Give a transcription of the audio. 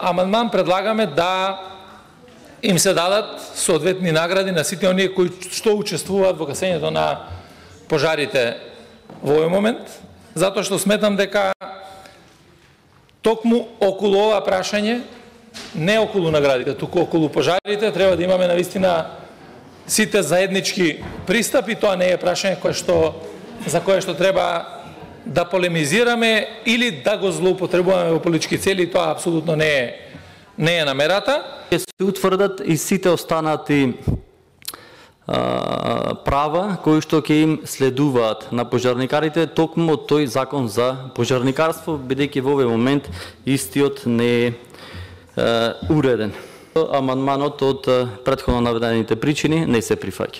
амандман предлагаме да им се дадат соодветни награди на сите оние кои што учествуваат во гасењето на пожарите во овој момент, затоа што сметам дека токму околу ова прашање, не околу наградите, туку околу пожарите, треба да имаме навистина сите заеднички пристапи. Тоа не е прашање за кое што треба да полемизираме или да го злоупотребуваме во политички цели, тоа апсолутно не е намерата. Ќе се утврдат и сите останати права кои што ќе им следуваат на пожарникарите токму од тој закон за пожарникарство, бидејќи во овој момент истиот не е уреден. Амандманот од претходно наведените причини не се прифаќа.